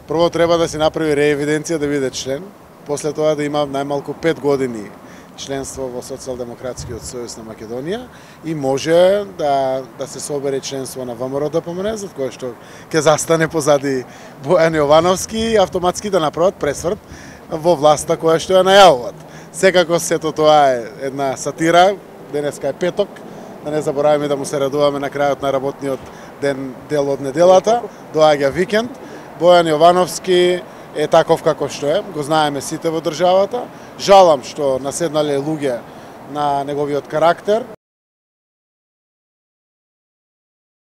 Прво треба да се направи реевиденција да биде член, после тоа да има најмалку 5 години членство во Социјалдемократскиот сојуз на Македонија и може да се собере членство на ВМРО ДПМН, за кое што ќе застане позади Бојан Јовановски и автоматски да направат пресврт во власта која што ја најавуваат. Секако сето тоа е една сатира, денеска е петок, да не забораваме да му се радуваме на крајот на работниот дел од неделата, доаѓа викенд. Бојан Јовановски е таков како што е, го знаеме сите во државата. Жалам што наседнале луѓе на неговиот карактер,